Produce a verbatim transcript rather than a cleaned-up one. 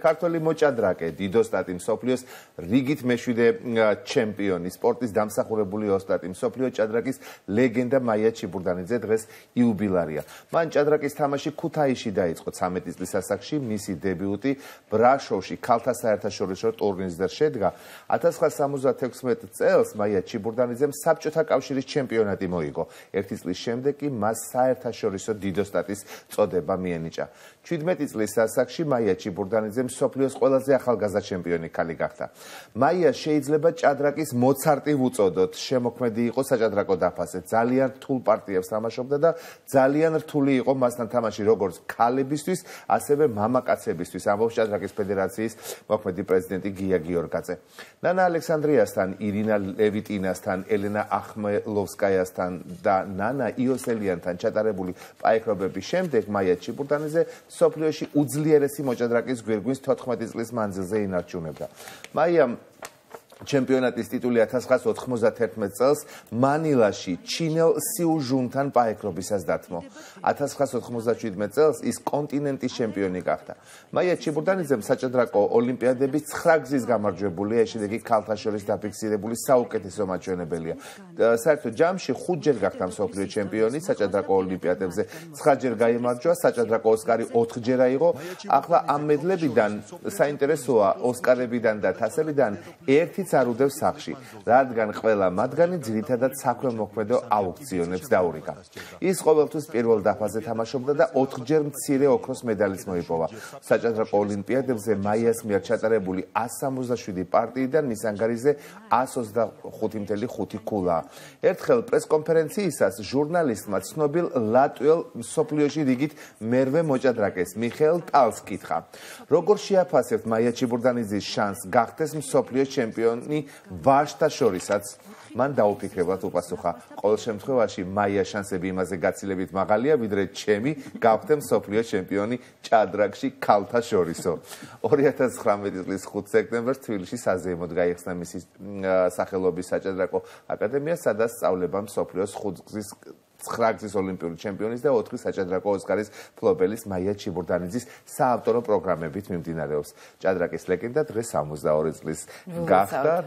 ქართველი მოჭადრაკე დიდოსტატი მსოფლიოს რიგით მეშვიდე ჩემპიონი, სპორტის დამსახურებული ოსტატი, მსოფლიო ჭადრაკის ლეგენდა მაია ჩიბურდანიძე დღეს იუბილარია. მან ჭადრაკის თამაში ქუთაისში დაიწყო ცამეტი წლის ასაკში, მისი დებიუტი ბრაშოვში ქალთა საერთაშორისო ტურნირზე შედგა. ათას ცხრაასა სამოცდათექვსმეტ წელს მაია ჩიბურდანიძემ საბჭოთა კავშირის ჩემპიონატი მოიგო. ერთი წლის შემდეგ კი მას საერთაშორისო დიდოსტატის წოდება მიენიჭა. შვიდმეტი წლის ასაკში მაია ჩიბურდანიძე მსოფლიოს ყველაზე ახალგაზრდა ჩემპიონი ქალი გახდა. მაია შეიძლება ჭადრაკის მოცარტი ვუწოდოთ. შემოქმედი იყო საჭადრაკო დაფაზე. ძალიან რთულ პარტიებს თამაშობდა და ძალიან რთული იყო მასთან თამაში როგორც ქალებისთვის, ასევე მამაკაცებისთვის. ამბობს ჭადრაკის ფედერაციის მოქმედი პრეზიდენტი გია გიორგაძე. ნანა ალექსანდრიასთან, ირინა ლევიტინასთან, ელენა ახმელოვსკაიასთან და ნანა იოსელიანთან ჩატარებული პაექრობების შემდეგ მაია ჩიბურდანიძე მსოფლიოში უძლიერესი მოჭადრაკის გვირგვინს თოთხმეტი წლის მანძილზე ინარჩუნებდა. მაიამ ჩემპიონატის ტიტული ათას ცხრაასა ოთხმოცდათერთმეტ წელს მანილაში ჩინელ სიუჟუნთან პაექრობისას დათმო. ათას ცხრაასა ოთხმოცდაშვიდმეტ წელს ის კონტინენტის ჩემპიონი გახდა. მაია ჩიბურდანიძემ საჭადრაკო ოლიმპიადების ცხრა გზის გამარჯვებულია, შედეგი ქალთა შორის დაფიქსირებული საუკეთესო მაჩვენებელია. საერთო ჯამში ხუთჯერ გახდა მსოფლიო ჩემპიონი, საჭადრაკო ოლიმპიადებზე ცხრაჯერ გაიმარჯვა, საჭადრაკო ოსკარი ოთხჯერ აიღო. ახლა ამ მედლებიდან საინტერესოა ოსკარებიდან და თასებიდან ერთიც არ უდევს სახში, რადგან ყველა მათგანი ძირითადად საქვემოქმედო აუქციონებს დაურიგა. ის ყოველთვის პირველ დაფაზე თამაშობდა და ოთხჯერ მცირე ოქროს მედალიც მოიპოვა. საჭადრაკო ოლიმპიადებზე მაიას მიერ ჩატარებული ასი სამოცდაშვიდი პარტიიდან მის ანგარიზე ასი ოცდახუთი წუთი ხუთი ქულა. ერთხელ პრესკონფერენციისას ჟურნალისტმა ცნობილ ლატვიელ მსოფლიოში რიგით მერვე მოჭადრაკეს მიხეილ ტალს კითხა, როგორ შეაფასებთ მაია ჩიბურდანიძის შანსს გახდეს მსოფლიო ჩემპიონი ვაჟთა შორისაც? მან დაუფიქრებლად უპასუხა, ყოველ შემთხვევაში მაია შანსები იმაზე გაცილებით მაღალია, ვიდრე ჩემი გავხდე მსოფლიო ჩემპიონი ჭადრაკში ქალთა შორისო. ორი ათას ცხრამეტი წლის ხუთი სექტემბერს თბილისში საზეიმოდ გაიხსნა მისი სახელობის საჭადრაკო აკადემია, სადაც სწავლება მსოფლიოს ხუთგზის ცხრა გზის ოლიმპიური ჩემპიონის და ოთხი საჭადრაკო ოსკარის მფლობელის მაია ჩიბურდანიძის საავტორო პროგრამებით მიმდინარეობს. ჭადრაკის ლეგენდა დღეს სამოცდაორი წლის გახდა და